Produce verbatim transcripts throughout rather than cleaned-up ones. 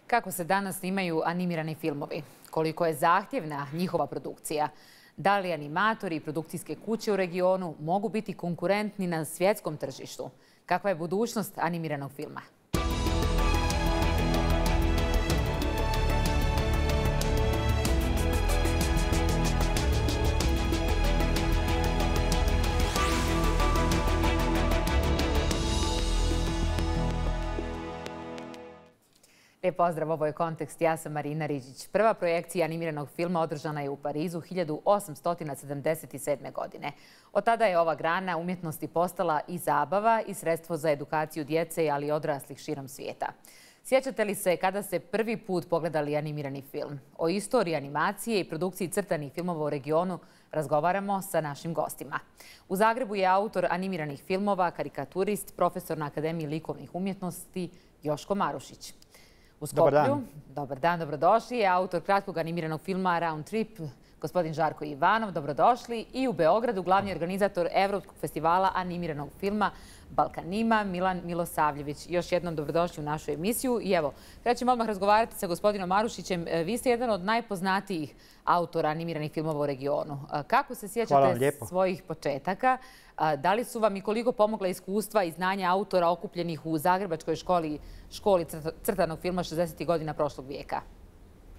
Kako se danas snimaju animirani filmovi? Koliko je zahtjevna njihova produkcija? Da li animatori i produkcijske kuće u regionu mogu biti konkurentni na svjetskom tržištu? Kakva je budućnost animiranog filma? Lijep pozdrav, ovo je Kontekst, ja sam Marina Riđić. Prva projekcija animiranog filma održana je u Parizu hiljadu osamsto sedamdeset sedme. godine. Od tada je ova grana umjetnosti postala i zabava i sredstvo za edukaciju djece, ali i odraslih širom svijeta. Sjećate li se kada ste prvi put pogledali animirani film? O istoriji animacije i produkciji crtanih filmova u regionu razgovaramo sa našim gostima. U Zagrebu je autor animiranih filmova, karikaturist, profesor na Akademiji likovnih umjetnosti Joško Marušić. U Skoplju, dobar dan. Dobar dan, dobrodošli, je autor kratkog animiranog filma Round Trip, gospodin Žarko Ivanov, dobrodošli. I u Beogradu glavni organizator Evropskog festivala animiranog filma Balkanima, Milan Milosavljević. Još jednom dobrodošli u našu emisiju. I evo, krećemo odmah razgovarati sa gospodinom Marušićem. Vi ste jedan od najpoznatijih autora animiranih filmova u regionu. Kako se sjećate svojih početaka? Da li su vam i koliko pomogla iskustva i znanja autora okupljenih u Zagrebačkoj školi, školi crtanog filma šezdesetih godina prošlog vijeka?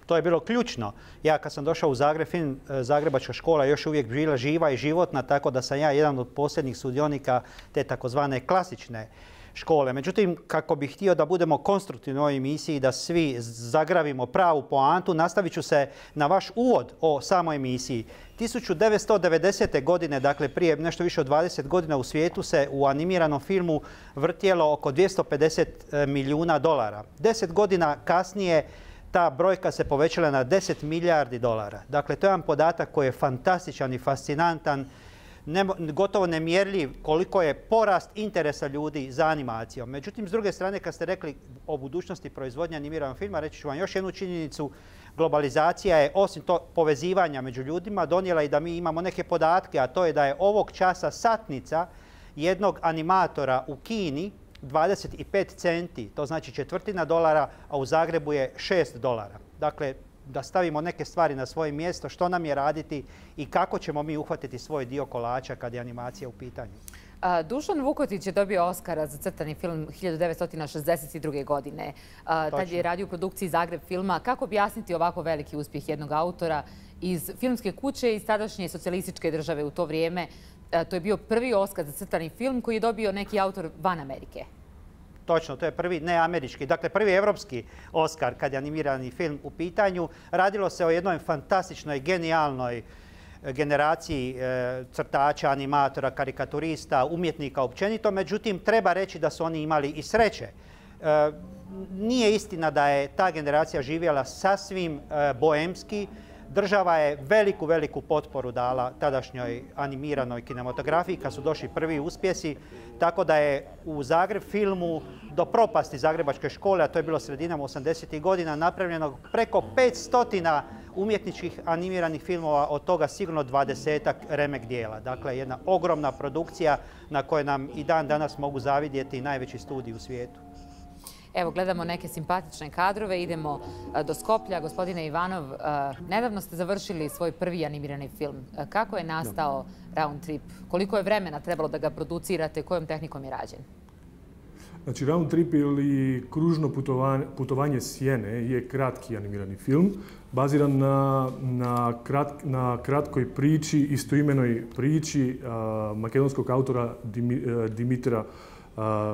To je bilo ključno. Ja kad sam došao u Zagreb, film Zagrebačka škola još uvijek bila živa i životna, tako da sam ja jedan od posljednjih sudionika te takozvane klasične škole. Međutim, kako bih htio da budemo konstruktivni u ovoj emisiji, da svi zagravimo pravu poantu, nastavit ću se na vaš uvod o samoj emisiji. tisuću devetsto devedesete. godine, dakle prije nešto više od dvadeset godina, u svijetu se u animiranom filmu vrtjelo oko dvjesto pedeset milijuna dolara. Deset godina kasnije ta brojka se povećala na deset milijardi dolara. Dakle, to je jedan podatak koji je fantastičan i fascinantan, ne, gotovo nemjerljiv koliko je porast interesa ljudi za animacijom. Međutim, s druge strane, kad ste rekli o budućnosti proizvodnje animiranog filma, reći ću vam još jednu činjenicu. Globalizacija je, osim to povezivanja među ljudima, donijela i da mi imamo neke podatke, a to je da je ovog časa satnica jednog animatora u Kini dvadeset pet centi, to znači četvrtina dolara, a u Zagrebu je šest dolara. Dakle, da stavimo neke stvari na svoje mjesto, što nam je raditi i kako ćemo mi uhvatiti svoj dio kolača kad je animacija u pitanju. Dušan Vukotić je dobio Oskara za crtani film hiljadu devetsto šezdeset druge. godine. Tad je radio u produkciji Zagreb filma. Kako objasniti ovako veliki uspjeh jednog autora iz filmske kuće iz tadašnje socijalističke države u to vrijeme? To je bio prvi Oskar za crtani film koji je dobio neki autor van Amerike. Točno, to je prvi neamerički, dakle prvi evropski Oskar kad je animirani film u pitanju. Radilo se o jednoj fantastičnoj, genijalnoj generaciji crtača, animatora, karikaturista, umjetnika općenito. Međutim, treba reći da su oni imali i sreće. Nije istina da je ta generacija živjela sasvim boemski. Država je veliku, veliku potporu dala tadašnjoj animiranoj kinematografiji kad su došli prvi uspjesi. Tako da je u Zagreb filmu do propasti Zagrebačke škole, a to je bilo sredinom osamdesetih godina, napravljeno preko petsto umjetničkih animiranih filmova, od toga sigurno dvadesetak remek dijela. Dakle, jedna ogromna produkcija na kojoj nam i dan danas mogu zavidjeti najveći studiji u svijetu. Evo, gledamo neke simpatične kadrove, idemo do Skoplja. Gospodine Ivanov, nedavno ste završili svoj prvi animirani film. Kako je nastao Round Trip? Koliko je vremena trebalo da ga producirate? Kojom tehnikom je rađen? Znači, Round Trip ili kružno putovanje, putovanje sjene je kratki animirani film, baziran na, na, krat, na kratkoj priči, istoimenoj priči a, makedonskog autora Dim, Dimitra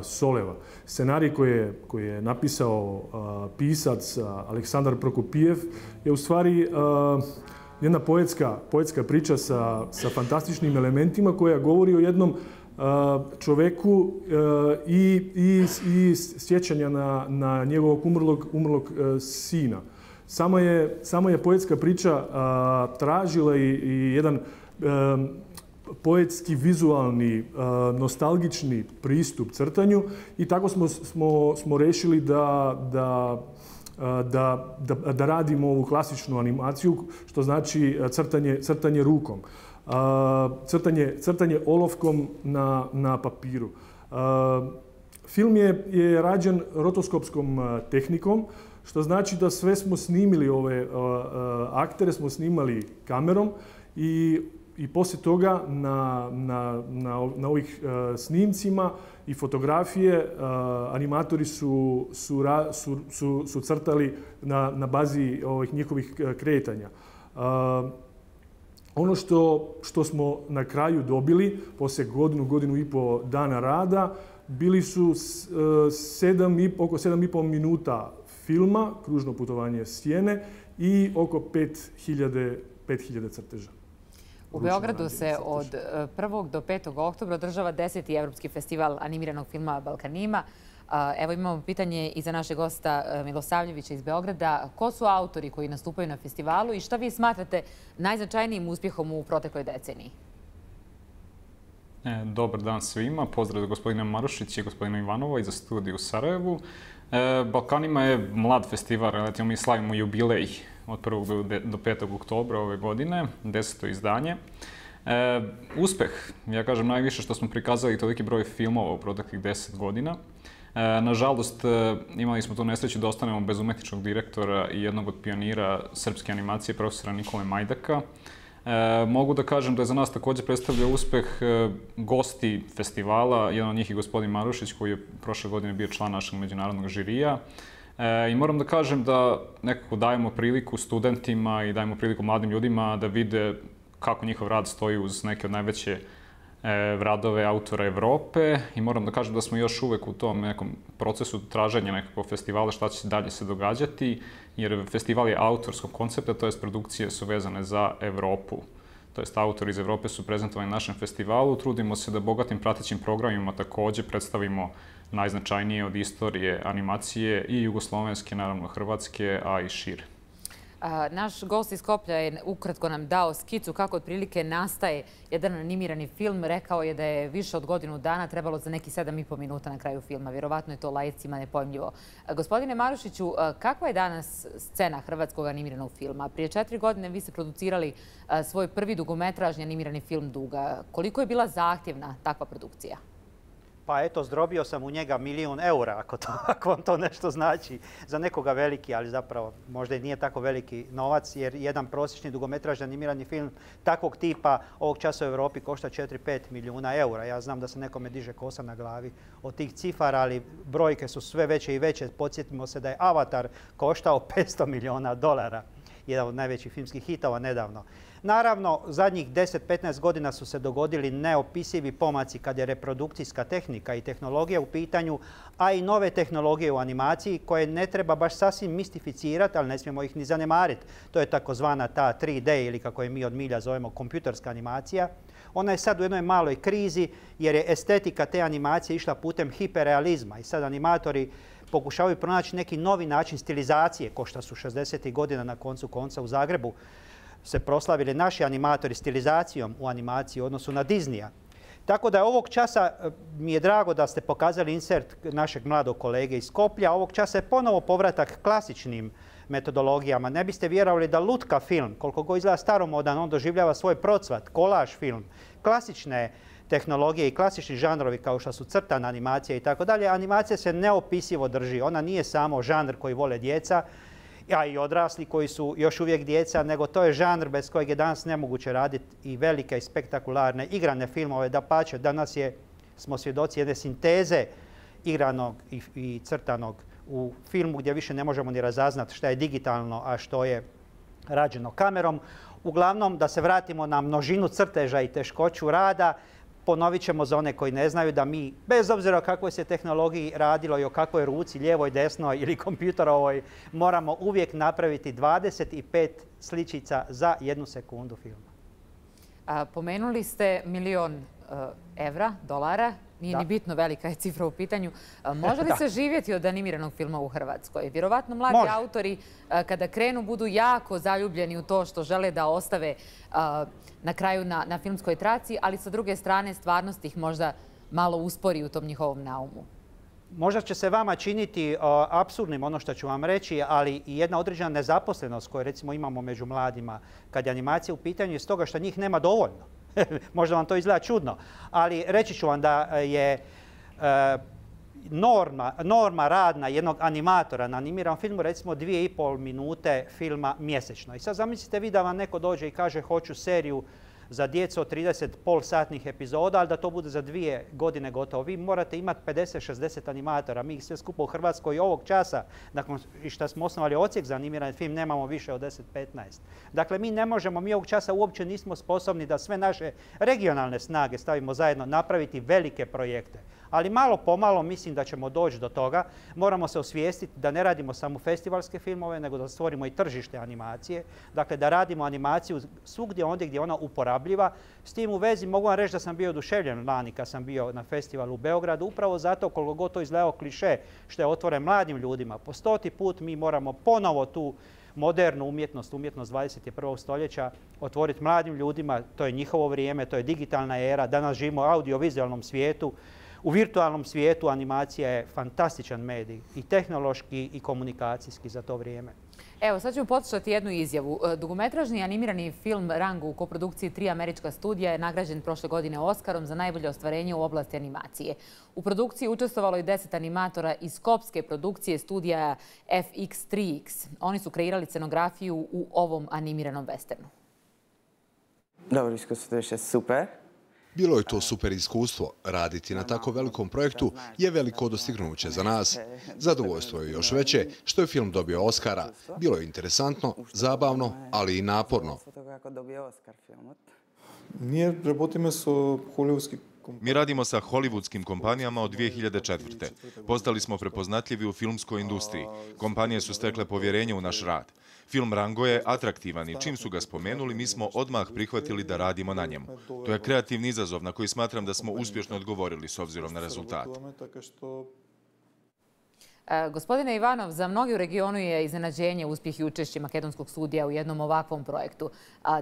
Soleva. Scenarij koji je, koji je napisao a, pisac a, Aleksandar Prokopijev je u stvari a, jedna poetska, poetska priča sa, sa fantastičnim elementima koja govori o jednom a, čoveku a, i, i, i sjećanja na, na njegovog umrlog, umrlog a, sina. Samo je, samo je poetska priča a, tražila i, i jedan a, poetski, vizualni, nostalgični pristup crtanju i tako smo, smo, smo rešili da, da, da, da, da radimo ovu klasičnu animaciju, što znači crtanje, crtanje rukom, crtanje, crtanje olovkom na, na papiru. Film je, je rađen rotoskopskom tehnikom, što znači da sve smo snimili ove uh, uh, aktere, smo snimali kamerom i, i poslije toga na, na, na, na ovih uh, snimcima i fotografije uh, animatori su, su, ra, su, su, su crtali na, na bazi ovih njihovih kretanja. Uh, ono što, što smo na kraju dobili, poslije godinu, godinu i pol dana rada, bili su uh, sedam i, oko sedam i pol minuta filma, kružno putovanje sjene i oko pet hiljada crteža. U Beogradu se od prvog do petog oktobra održava deseti Evropski festival animiranog filma Balkanima. Evo imamo pitanje i za našeg gosta Milosavljevića iz Beograda. Ko su autori koji nastupaju na festivalu i šta vi smatrate najznačajnijim uspjehom u protekloj deceniji? Dobar dan svima. Pozdrav za gospodina Marušića i gospodina Ivanova i za studiju u Sarajevu. Balkanima je mlad festival, relativno mi slavimo jubilej od prvog do petog oktobra ove godine, deseto izdanje. E, uspeh, ja kažem najviše što smo prikazali toliki broj filmova u proteklih deset godina. E, nažalost, imali smo tu nesreću da ostanemo bez umetničkog direktora i jednog od pionira srpske animacije, profesora Nikole Majdaka. E, mogu da kažem da je za nas također predstavljao uspeh e, gosti festivala, jedan od njih je gospodin Marušić koji je prošle godine bio član našeg međunarodnog žirija. E, I moram da kažem da nekako dajemo priliku studentima i dajemo priliku mladim ljudima da vide kako njihov rad stoji uz neke od najveće e, radove autora Evrope. I moram da kažem da smo još uvek u tom nekom procesu traženja nekakvog festivala šta će dalje se događati, jer festival je autorskog koncepta, to jest produkcije su vezane za Evropu. To jest autori iz Evrope su prezentovani na našem festivalu. Trudimo se da bogatim pratećim programima također predstavimo najznačajnije od istorije animacije i jugoslovenske, naravno hrvatske, a i šire. Naš gost iz Skoplja je ukratko nam dao skicu kako otprilike nastaje jedan animirani film. Rekao je da je više od godinu dana trebalo za neki sedam i po minuta na kraju filma. Vjerovatno je to laicima nepojmljivo. Gospodine Marušiću, kakva je danas scena hrvatskog animiranog filma? Prije četiri godine vi ste producirali svoj prvi dugometražni animirani film Duga. Koliko je bila zahtjevna takva produkcija? Pa eto, zdrobio sam u njega milijun eura, ako, to, ako vam to nešto znači. Za nekoga veliki, ali zapravo možda i nije tako veliki novac, jer jedan prosječni dugometražni animirani film takvog tipa ovog časa u Europi košta četiri do pet milijuna eura. Ja znam da se nekome diže kosa na glavi od tih cifara, ali brojke su sve veće i veće. Podsjetimo se da je Avatar koštao petsto milijuna dolara. Jedan od najvećih filmskih hitova nedavno. Naravno, zadnjih deset do petnaest godina su se dogodili neopisivi pomaci kad je reprodukcijska tehnika i tehnologija u pitanju, a i nove tehnologije u animaciji koje ne treba baš sasvim mistificirati, ali ne smijemo ih ni zanemariti. To je takozvana ta tri D ili kako je mi od milja zovemo kompjuterska animacija. Ona je sad u jednoj maloj krizi jer je estetika te animacije išla putem hiperrealizma i sad animatori pokušavaju pronaći neki novi način stilizacije, ko što su šezdesetih godina na koncu konca u Zagrebu se proslavili naši animatori stilizacijom u animaciji u odnosu na Disneya. Tako da ovog časa mi je drago da ste pokazali insert našeg mladog kolege iz Skoplja. Ovog časa je ponovo povratak klasičnim metodologijama. Ne biste vjerovali da lutka film, koliko god izgleda staromodan, on doživljava svoj procvat, kolaž film, klasične tehnologije i klasični žanrovi kao što su crtana animacija i tako dalje. Animacija se neopisivo drži. Ona nije samo žanr koji vole djeca, a i odrasli koji su još uvijek djeca, nego to je žanr bez kojeg je danas nemoguće raditi i velike i spektakularne igrane filmove. Dapače, danas je, smo svjedoci jedne sinteze igranog i, i crtanog u filmu gdje više ne možemo ni razaznati šta je digitalno, a što je rađeno kamerom. Uglavnom, da se vratimo na množinu crteža i teškoću rada, ponovit ćemo za one koji ne znaju da mi, bez obzira o kakvoj se tehnologiji radilo i o kakvoj ruci, lijevoj, desnoj ili kompjuterovoj, moramo uvijek napraviti dvadeset pet sličica za jednu sekundu filma. A, pomenuli ste milion uh, evra, dolara. Nije da. Ni bitno velika je cifra u pitanju. A, može li se živjeti od animiranog filma u Hrvatskoj? Vjerovatno mladi može. Autori a, kada krenu budu jako zaljubljeni u to što žele da ostave a, na kraju na, na filmskoj traci, ali sa druge strane stvarnost ih možda malo uspori u tom njihovom naumu. Možda će se vama činiti uh, apsurdnim ono što ću vam reći, ali i jedna određena nezaposlenost koju recimo imamo među mladima kad je animacija u pitanju je stoga što njih nema dovoljno. Možda vam to izgleda čudno, ali reći ću vam da je uh, norma, norma radna jednog animatora na animiranom filmu, recimo dvije i pol minute filma mjesečno. I sad zamislite vi da vam neko dođe i kaže hoću seriju za djecu od trideset polsatnih epizoda, ali da to bude za dvije godine gotovo. Vi morate imati pedeset šezdeset animatora. Mi ih sve skupa u Hrvatskoj ovog časa, nakon što smo osnovali odsjek za animirani film, nemamo više od deset petnaest. Dakle, mi ne možemo, mi ovog časa uopće nismo sposobni da sve naše regionalne snage stavimo zajedno, napraviti velike projekte. Ali malo pomalo mislim da ćemo doći do toga. Moramo se osvijestiti da ne radimo samo festivalske filmove, nego da stvorimo i tržište animacije. Dakle, da radimo animaciju svugdje ondje gdje je ona uporabljiva. S tim u vezi mogu vam reći da sam bio oduševljen lani kad sam bio na festivalu u Beogradu, upravo zato koliko god to izgledao kliše što je otvoren mladim ljudima. Po stoti put mi moramo ponovo tu modernu umjetnost, umjetnost dvadeset prvog stoljeća otvoriti mladim ljudima. To je njihovo vrijeme, to je digitalna era. Danas živimo u audiovizualnom svijetu. U virtualnom svijetu animacija je fantastičan medij i tehnološki i komunikacijski za to vrijeme. Evo, sad ćemo poslušati jednu izjavu. Dugometražni animirani film Rango u koprodukciji tri američka studija je nagrađen prošle godine Oskarom za najbolje ostvarenje u oblasti animacije. U produkciji učestvovalo je deset animatora iz skopske produkcije studija F X tri X. Oni su kreirali scenografiju u ovom animiranom westernu. Dobro, iskustvo je super. Bilo je to super iskustvo. Raditi na tako velikom projektu je veliko dostignuće za nas. Zadovoljstvo je još veće što je film dobio Oskara. Bilo je interesantno, zabavno, ali i naporno. Mi radimo sa hollywoodskim kompanijama od dvije hiljade četvrte. Postali smo prepoznatljivi u filmskoj industriji. Kompanije su stekle povjerenje u naš rad. Film Rango je atraktivan i čim su ga spomenuli, mi smo odmah prihvatili da radimo na njemu. To je kreativni izazov na koji smatram da smo uspješno odgovorili s obzirom na rezultat. Gospodine Ivanov, za mnogi u regionu je iznenađenje uspjeh i učešće makedonskog studija u jednom ovakvom projektu.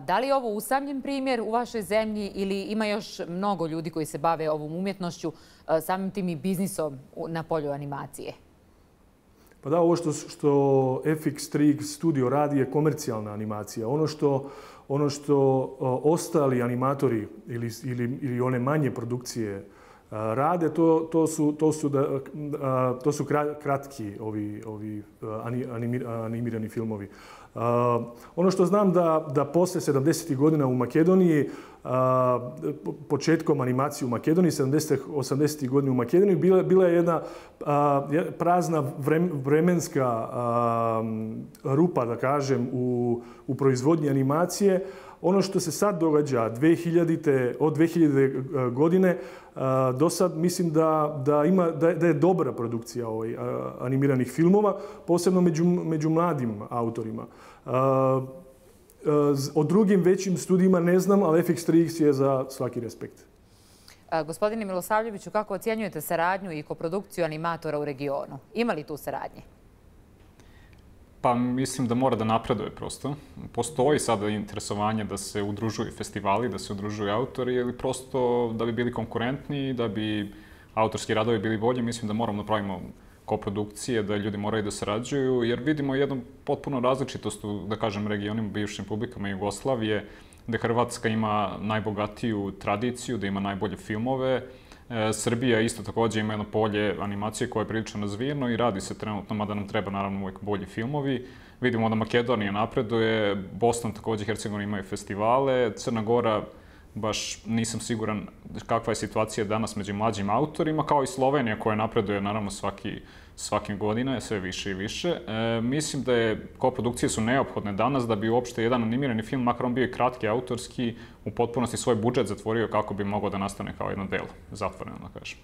Da li je ovo usamljen primjer u vašoj zemlji ili ima još mnogo ljudi koji se bave ovom umjetnošću, samim tim i biznisom na polju animacije? Pa da, ovo što, što F X tri X studio radi je komercijalna animacija. Ono što, ono što ostali animatori ili, ili, ili one manje produkcije rade, to, to su, to su, da, to su kratki ovi, ovi animirani filmovi. Uh, ono što znam da, da poslije sedamdesetih godina u Makedoniji, uh, početkom animacije u Makedoniji, sedamdesetih osamdesetih godina u Makedoniji, bila, bila je jedna uh, prazna vremenska uh, rupa, da kažem, u, u proizvodnji animacije. Ono što se sad događa dvije hiljadite, od dvije hiljadite godine do sad mislim da, da, ima, da je dobra produkcija ovaj, animiranih filmova, posebno među, među mladim autorima. O drugim većim studijima ne znam, ali F X tri X je za svaki respekt. Gospodine Milosavljeviću, kako ocjenjujete saradnju i koprodukciju animatora u regionu? Ima li tu saradnje? Pa mislim da mora da napreduje prosto. Postoji sada interesovanje da se udružuju festivali, da se udružuju autori, ili prosto da bi bili konkurentni, da bi autorski radovi bili bolji. Mislim da moramo da pravimo koprodukcije, da ljudi moraju da sarađuju, jer vidimo jednu potpuno različitost u, da kažem, regionima, bivšim republikama Jugoslavije, gde Hrvatska ima najbogatiju tradiciju, da ima najbolje filmove. Srbija isto također ima jedno polje animacije koje je prilično razvijeno i radi se trenutno, mada nam treba naravno uvijek bolji filmovi. Vidimo da Makedonija napreduje, Bosna također, Hercegovina imaju festivale, Crna Gora baš nisam siguran kakva je situacija danas među mlađim autorima, kao i Slovenija koja napreduje naravno svaki, svake godine, sve više i više. E, mislim da je koprodukcije su neophodne danas da bi uopšte jedan animirani film, makar on bio i kratki, autorski, u potpunosti svoj budžet zatvorio kako bi mogao da nastane kao jedno delo, zatvoreno da kažem.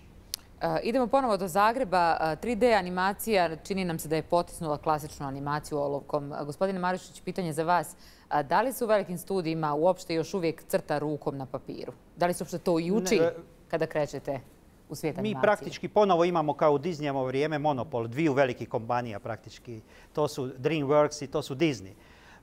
Idemo ponovo do Zagreba. tri D animacija čini nam se da je potisnula klasičnu animaciju olovkom. Gospodine Marušić, pitanje za vas. Da li se u velikim studijima uopšte još uvijek crta rukom na papiru? Da li se uopšte to i uči kada krećete u svijet animacije? Mi praktički ponovo imamo kao u Disneyevo vrijeme monopol dviju velikih kompanija praktički. To su DreamWorks i to su Disney.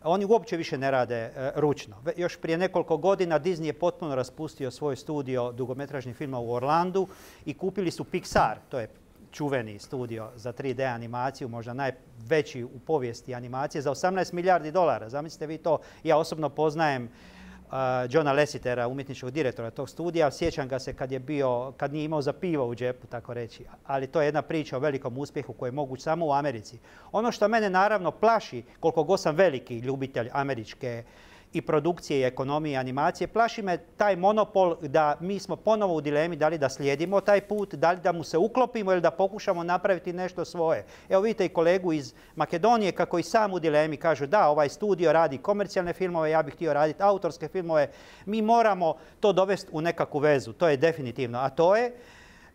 Oni uopće više ne rade e, ručno. Još prije nekoliko godina Disney je potpuno raspustio svoj studio dugometražnih filma u Orlandu i kupili su Pixar, to je čuveni studio za tri D animaciju, možda najveći u povijesti animacije, za osamnaest milijardi dolara. Zamislite vi to, ja osobno poznajem uh, Johna Lassetera, umjetničkog direktora tog studija. Sjećam ga se kad je bio, kad nije imao za pivo u džepu, tako reći. Ali to je jedna priča o velikom uspjehu koji je moguć samo u Americi. Ono što mene naravno plaši, koliko god sam veliki ljubitelj američke i produkcije i ekonomije i animacije, plaši me taj monopol da mi smo ponovo u dilemi da li da slijedimo taj put, da li da mu se uklopimo ili da pokušamo napraviti nešto svoje. Evo vidite i kolegu iz Makedonije kako i sam u dilemi kažu da, ovaj studio radi komercijalne filmove, ja bih htio raditi autorske filmove. Mi moramo to dovesti u nekakvu vezu, to je definitivno. A to je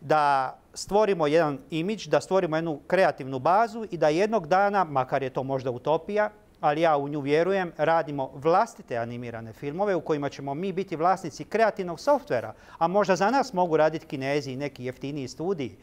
da stvorimo jedan imidž, da stvorimo jednu kreativnu bazu i da jednog dana, makar je to možda utopija, ali ja u nju vjerujem, radimo vlastite animirane filmove u kojima ćemo mi biti vlasnici kreativnog softvera, a možda za nas mogu raditi Kinezi i neki jeftiniji studiji,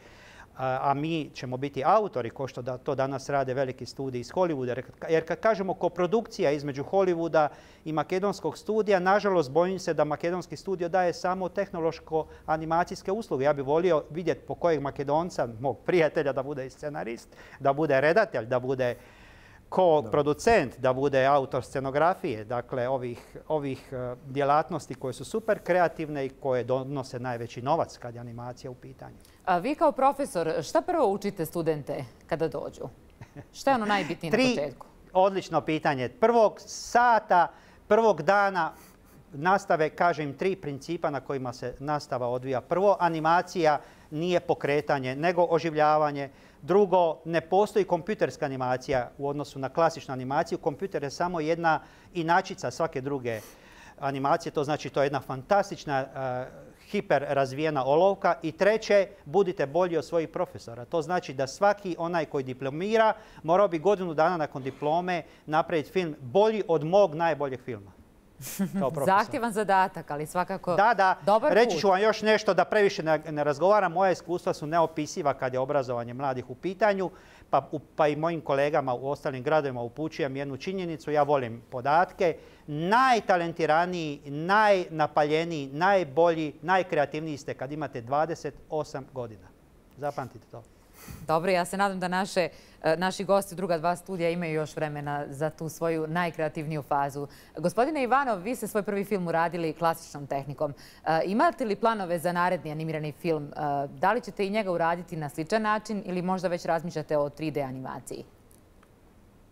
a mi ćemo biti autori, kao što to danas rade veliki studiji iz Hollywooda. Jer kad kažemo koprodukcija između Hollywooda i makedonskog studija, nažalost bojim se da makedonski studio daje samo tehnološko-animacijske usluge. Ja bih volio vidjeti po kojeg Makedonca, mog prijatelja, da bude i scenarist, da bude redatelj, da bude ko-producent, da bude autor scenografije, dakle ovih, ovih djelatnosti koje su super kreativne i koje donose najveći novac kad je animacija u pitanju. A vi kao profesor, šta prvo učite studente kada dođu? Šta je ono najbitnije na početku? Odlično pitanje. Prvog sata, prvog dana nastave, kažem, tri principa na kojima se nastava odvija. Prvo, animacija nije pokretanje, nego oživljavanje. Drugo, ne postoji kompjuterska animacija u odnosu na klasičnu animaciju. Kompjuter je samo jedna inačica svake druge animacije. To znači to je jedna fantastična, uh, hiper razvijena olovka. I treće, budite bolji od svojih profesora. To znači da svaki onaj koji diplomira morao bi godinu dana nakon diplome napraviti film bolji od mog najboljeg filma. Zahtjevan zadatak, ali svakako da, da. dobar put. Reći ću vam još nešto da previše ne, ne razgovaram. Moja iskustva su neopisiva kad je obrazovanje mladih u pitanju, pa, pa i mojim kolegama u ostalim gradovima upućujem jednu činjenicu. Ja volim podatke. Najtalentiraniji, najnapaljeniji, najbolji, najkreativniji ste kad imate dvadeset osam godina. Zapamtite to. Dobro, ja se nadam da naše, naši gosti u druga dva studija imaju još vremena za tu svoju najkreativniju fazu. Gospodine Ivanov, vi ste svoj prvi film uradili klasičnom tehnikom. Imate li planove za naredni animirani film? Da li ćete i njega uraditi na sličan način ili možda već razmišljate o tri D animaciji?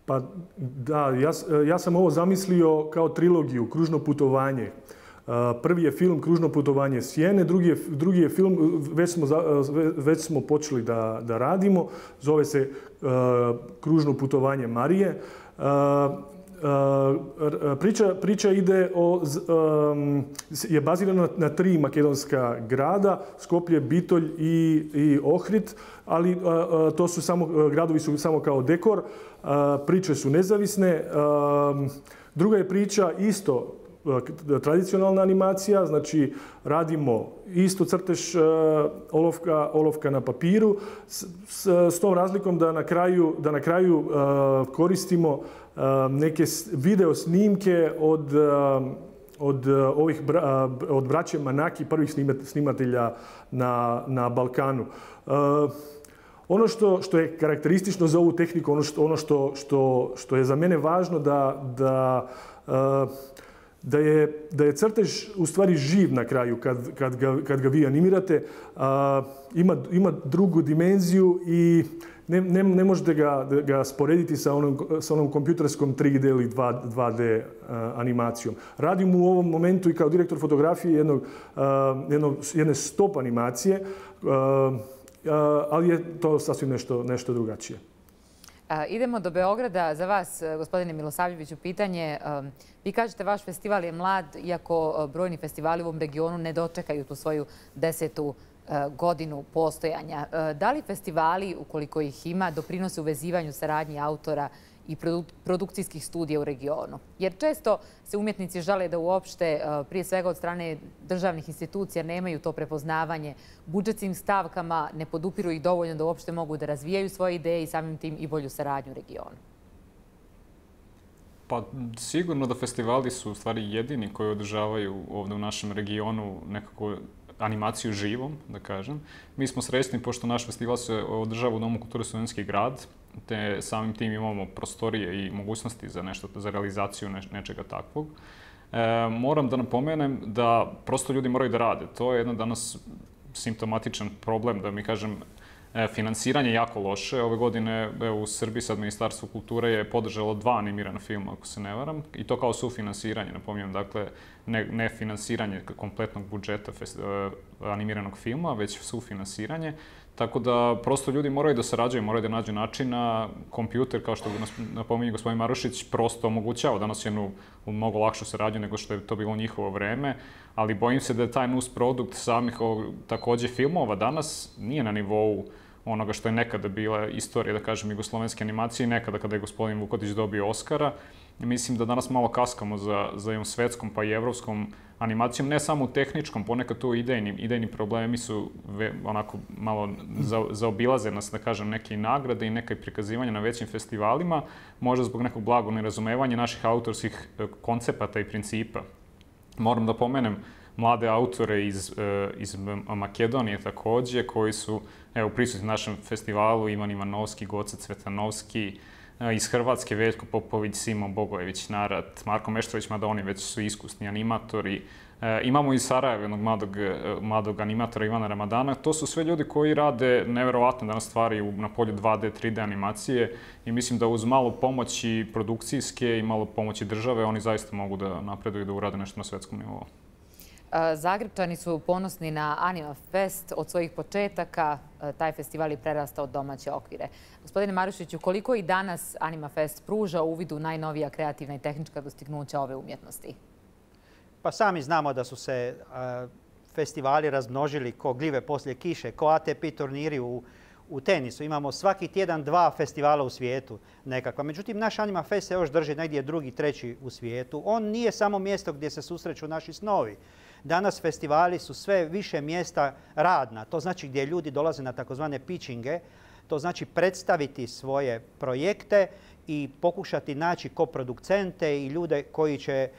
Pa da, ja, ja sam ovo zamislio kao trilogiju, Kružno putovanje. Prvi je film Kružno putovanje sjene, drugi je, drugi je film, već smo, već smo počeli da, da radimo, zove se uh, Kružno putovanje Marije. Uh, uh, priča, priča ide o, um, je bazirana na, na tri makedonska grada, Skoplje, Bitolj i, i Ohrid, ali uh, uh, to su samo, uh, gradovi su samo kao dekor, uh, priče su nezavisne. Uh, druga je priča isto tradicionalna animacija, znači radimo isto crtež uh, olovka, olovka na papiru s, s, s tom razlikom da na kraju, da na kraju uh, koristimo uh, neke video snimke od, uh, od, uh, ovih bra, uh, od braće Manaki, prvih snimatelja na, na Balkanu. Uh, Ono što, što je karakteristično za ovu tehniku, ono što, ono što, što, što je za mene važno da, da uh, Da je, da je crtež u stvari živ na kraju kad, kad, ga, kad ga vi animirate. A, ima, ima drugu dimenziju i ne, ne, ne možete ga, ga sporediti sa onom, sa onom kompjuterskom tri D ili dva D a, animacijom. Radim u ovom momentu i kao direktor fotografije jednog, a, jednog, jedne stop animacije, a, a, ali je to sasvim nešto, nešto drugačije. Idemo do Beograda. Za vas, gospodine Milosavljeviću, pitanje. Vi kažete vaš festival je mlad, iako brojni festivali u ovom regionu ne dočekaju tu svoju desetu godinu postojanja. Da li festivali, ukoliko ih ima, doprinose uvezivanju saradnji autora i produkcijskih studija u regionu? Jer često se umjetnici žale da uopšte, prije svega od strane državnih institucija, nemaju to prepoznavanje. Budžetskim stavkama ne podupiru ih dovoljno da uopšte mogu da razvijaju svoje ideje i samim tim i bolju saradnju u regionu. Pa sigurno da festivali su u stvari jedini koji održavaju ovdje u našem regionu nekako animaciju živom, da kažem. Mi smo srećni pošto naš festival se održava u Domu kulture Studentski grad, te samim tim imamo prostorije i mogućnosti za nešto, za realizaciju nečega takvog. E, moram da napomenem da prosto ljudi moraju da rade. To je jedan danas simptomatičan problem, da mi kažem, e, finansiranje je jako loše. Ove godine evo, u Srbiji sad Ministarstvo kulture je podržalo dva animirana filma, ako se ne varam, i to kao sufinansiranje, napominjem, dakle, ne, ne finansiranje kompletnog budžeta fest, e, animiranog filma, već sufinansiranje. Tako da prosto ljudi moraju da sarađuju, moraju da nađu načina. Kompjuter, kao što napominje gospodin Marušić, prosto omogućava danas jednu mnogo lakšu saradnju nego što je to bilo u njihovo vreme, ali bojim se da je taj nus produkt samih takođe filmova danas nije na nivou onoga što je nekada bila istorija, da kažem, jugoslovenske animacije, nekada kada je gospodin Vukodić dobio Oskara. Mislim da danas malo kaskamo za, za jednom svetskom pa i evropskom animacijom, ne samo u tehničkom, ponekad tu idejni, idejni problemi su ve, onako malo za, zaobilaze nas, da kažem, neke nagrade i neke prikazivanja na većim festivalima, možda zbog nekog blagog nerazumevanja naših autorskih koncepata i principa. Moram da pomenem mlade autore iz, iz Makedonije takođe, koji su evo, prisutni na našem festivalu, Ivan Ivanovski, Goca Cvetanovski, iz Hrvatske Veljko Popović, Simo Bogojević, Narat, Marko Meštrović, mada oni već su iskusni animatori. E, imamo iz Sarajeva jednog mladog, mladog animatora Ivana Ramadana. To su sve ljudi koji rade neverovatne danas stvari na polju dva D, tri D animacije i mislim da uz malo pomoći produkcijske i malo pomoći države oni zaista mogu da napreduju i da urade nešto na svetskom nivou. Zagrebčani su ponosni na Anima Fest. Od svojih početaka taj festival je prerastao od domaće okvire. Gospodine Marušiću, koliko i danas Anima Fest pruža uvid u najnovija kreativna i tehnička dostignuća ove umjetnosti? Pa sami znamo da su se a, festivali razmnožili ko gljive poslije kiše, ko A T P turniri u, u tenisu. Imamo svaki tjedan dva festivala u svijetu nekakva. Međutim, naš Anima Fest se još drži negdje drugi, treći u svijetu. On nije samo mjesto gdje se susreću naši snovi. Danas festivali su sve više mjesta radna. To znači gdje ljudi dolaze na takozvane pitchinge. To znači predstaviti svoje projekte i pokušati naći koproducente i ljude koji će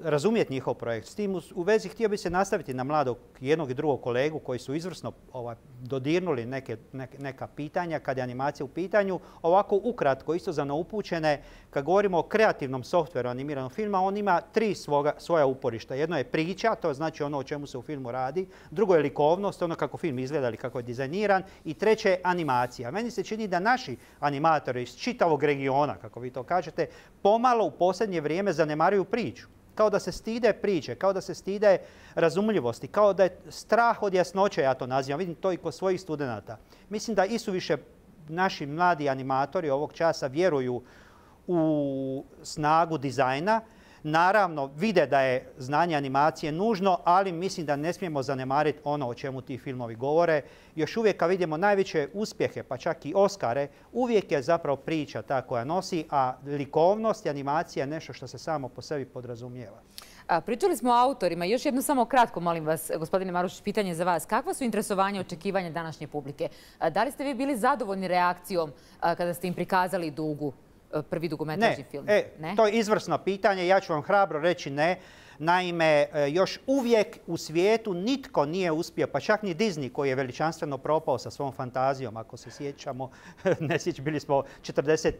razumjeti njihov projekt. S tim u vezi htio bi se nastaviti na mladog jednog i drugog kolegu koji su izvrsno ovaj, dodirnuli neke, neke, neka pitanja kad je animacija u pitanju. Ovako ukratko, isto za neupućene, kad govorimo o kreativnom softveru animiranog filma, on ima tri svoga, svoja uporišta. Jedno je priča, to znači ono o čemu se u filmu radi. Drugo je likovnost, ono kako film izgleda ili kako je dizajniran. I treće je animacija. Meni se čini da naši animatori iz čitavog regiona, kako vi to kažete, pomalo u posljednje vrijeme zanemaruju priču. Kao da se stide priče, kao da se stide razumljivosti, kao da je strah od jasnoće, ja to nazivam. Vidim to i kod svojih studenata. Mislim da isuviše naši mladi animatori ovog časa vjeruju u snagu dizajna. Naravno, vide da je znanje animacije nužno, ali mislim da ne smijemo zanemariti ono o čemu ti filmovi govore. Još uvijek kad vidimo najveće uspjehe, pa čak i Oskare, uvijek je zapravo priča ta koja nosi, a likovnost i animacija je nešto što se samo po sebi podrazumijeva. A, pričali smo o autorima. Još jedno samo kratko, molim vas, gospodine Marušić, pitanje za vas. Kakva su interesovanja i očekivanja današnje publike? A, da li ste vi bili zadovoljni reakcijom a, kada ste im prikazali Dugu? Prvi dugometražni film? E, ne, to je izvrsno pitanje. Ja ću vam hrabro reći ne. Naime, još uvijek u svijetu nitko nije uspio, pa čak ni Disney koji je veličanstveno propao sa svom fantazijom, ako se sjećamo, ne sjećamo, bili smo četrdeset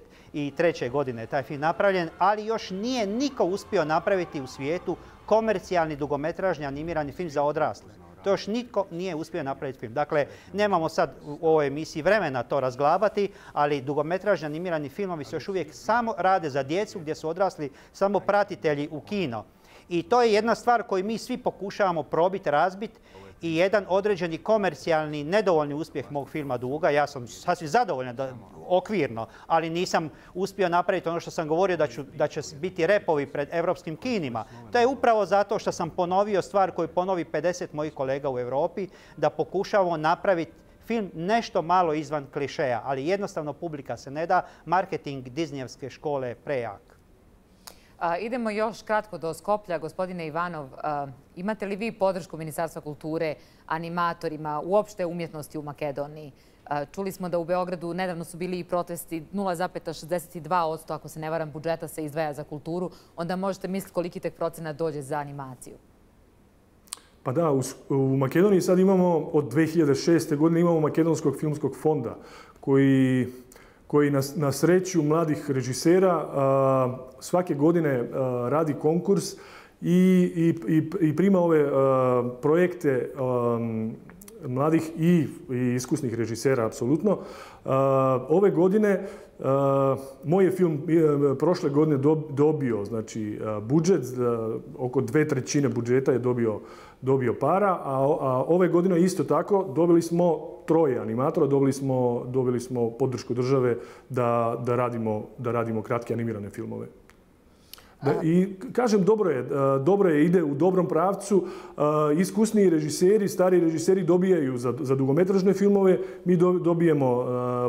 treće godine taj film napravljen, ali još nije niko uspio napraviti u svijetu komercijalni dugometražni animirani film za odrasle. To još nitko nije uspio napraviti film. Dakle, nemamo sad u ovoj emisiji vremena to razglabati, ali dugometražni animirani filmovi se još uvijek samo rade za djecu gdje su odrasli samo pratitelji u kino. I to je jedna stvar koju mi svi pokušavamo probiti, razbiti i jedan određeni komercijalni, nedovoljni uspjeh mog filma Duga. Ja sam sasvim zadovoljan da, okvirno, ali nisam uspio napraviti ono što sam govorio da, ću, da će biti repovi pred evropskim kinima. To je upravo zato što sam ponovio stvar koju ponovi pedeset mojih kolega u Europi, da pokušavamo napraviti film nešto malo izvan klišeja, ali jednostavno publika se ne da. Marketing Disneyevske škole je prejak. A, idemo još kratko do Skoplja. Gospodine Ivanov, a, imate li vi podršku Ministarstva kulture animatorima, uopšte umjetnosti u Makedoniji? A, čuli smo da u Beogradu nedavno su bili i protesti, nula zarez šezdeset dva posto, ako se ne varam, budžeta se izdvaja za kulturu. Onda možete misliti koliki tek procenat dođe za animaciju. Pa da, u, u Makedoniji sad imamo, od dve hiljade šeste. godine imamo Makedonskog filmskog fonda koji... koji na, na sreću mladih režisera a, svake godine a, radi konkurs i, i, i prima ove uh, projekte um, mladih i, i iskusnih režisera, apsolutno. Uh, ove godine uh, moj je film uh, prošle godine dobio znači, uh, budžet, uh, oko dve trećine budžeta je dobio, dobio para, a, a ove godine isto tako dobili smo troje animatora, dobili smo, dobili smo podršku države da, da, radimo, da radimo kratke animirane filmove. Da, I kažem, dobro je, dobro je, ide u dobrom pravcu. Iskusniji režiseri, stari režiseri dobijaju za, za dugometražne filmove, mi dobijemo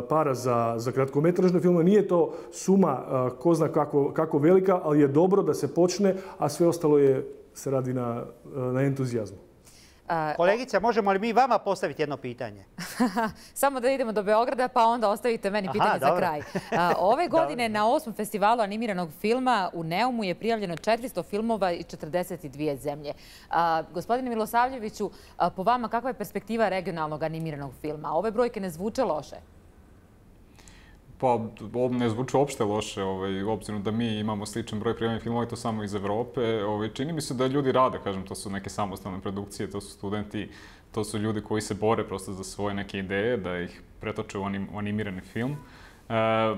para za, za kratkometražne filmove. Nije to suma ko zna kako, kako velika, ali je dobro da se počne, a sve ostalo je, se radi na, na entuzijazmu. Kolegice, možemo li mi vama postaviti jedno pitanje? Samo da idemo do Beograda, pa onda ostavite meni pitanje Aha, za dobro. kraj. Ove godine na osmom festivalu animiranog filma u Neumu je prijavljeno četiristo filmova i četrdeset dvije zemlje. Gospodine Milosavljeviću, po vama kakva je perspektiva regionalnog animiranog filma? Ove brojke ne zvuče loše? Pa, ovo ne zvuči uopšte loše, ovaj, obzirom da mi imamo sličan broj prijavljenih filmova i to samo iz Evrope. Ovaj, čini mi se da ljudi rade, kažem, to su neke samostalne produkcije, to su studenti, to su ljudi koji se bore prosto za svoje neke ideje, da ih pretoče u, anim, u animirani film. E,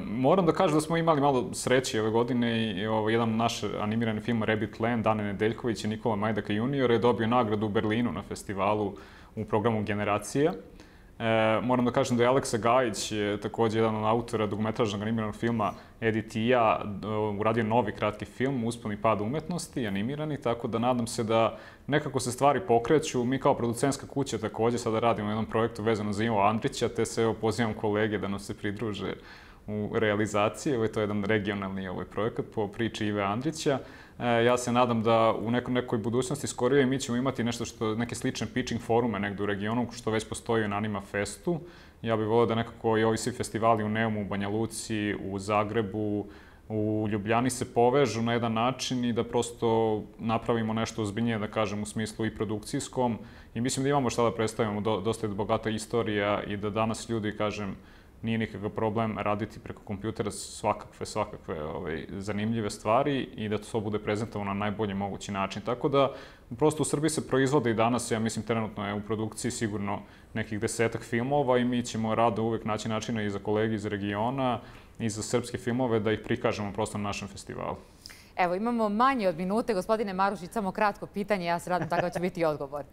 moram da kažem da smo imali malo sreće ove godine i ovaj, jedan naš animirani film Rabbit Land, Dane Nedeljković i Nikola Majdaka junior je dobio nagradu u Berlinu na festivalu u programu Generacija. E, moram da kažem da je Aleksa Gajić, također jedan od autora dugometražnog animiranog filma Edith i ja, uradio novi kratki film Usponi pad umetnosti, animirani, tako da nadam se da nekako se stvari pokreću. Mi kao producentska kuća također sada radimo u jednom projektu vezano za Ivo Andrića, te se evo, pozivam kolege da nam se pridruže u realizaciji. Ovo je to jedan regionalni ovaj projekat po priči Ive Andrića. E, ja se nadam da u nekoj, nekoj budućnosti skorije mi ćemo imati nešto što, neke slične pitching forume negdje u regionu, što već postoji na Anima Festu. Ja bih volio da nekako i ovi svi festivali u Neumu, u Banja Luci, u Zagrebu, u Ljubljani se povežu na jedan način i da prosto napravimo nešto ozbiljnije, da kažem, u smislu i produkcijskom. I mislim da imamo šta da predstavimo, do, dosta je bogata istorija i da danas ljudi, kažem, nije nikakav problem raditi preko kompjutera svakakve, svakakve ovaj, zanimljive stvari i da to bude prezentovano na najbolji mogući način. Tako da, prosto u Srbiji se proizvode i danas, ja mislim, trenutno je u produkciji sigurno nekih desetak filmova i mi ćemo rado uvek naći načina i za kolege iz regiona i za srpske filmove da ih prikažemo prosto na našem festivalu. Evo, imamo manje od minute. Gospodine Marušić, samo kratko pitanje, ja se radim tako će biti odgovor.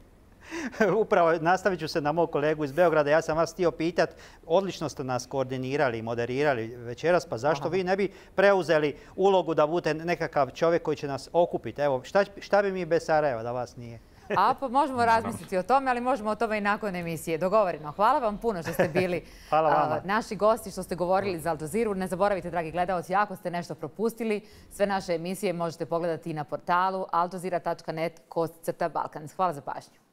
Upravo nastavit ću se na mog kolegu iz Beograda. Ja sam vas htio pitati, odlično ste nas koordinirali i moderirali večeras, pa zašto Aha. vi ne bi preuzeli ulogu da budete nekakav čovjek koji će nas okupiti? Evo, šta, šta bi mi bez Sarajeva da vas nije? A pa možemo razmisliti o tome, ali možemo o tome i nakon emisije. Dogovoreno. Hvala vam puno što ste bili a, naši gosti, što ste govorili za Al Jazeeru. Ne zaboravite, dragi gledalci, ako ste nešto propustili, sve naše emisije možete pogledati i na portalu aljazeera tačka net kost crta balkan. Hvala za pažnju.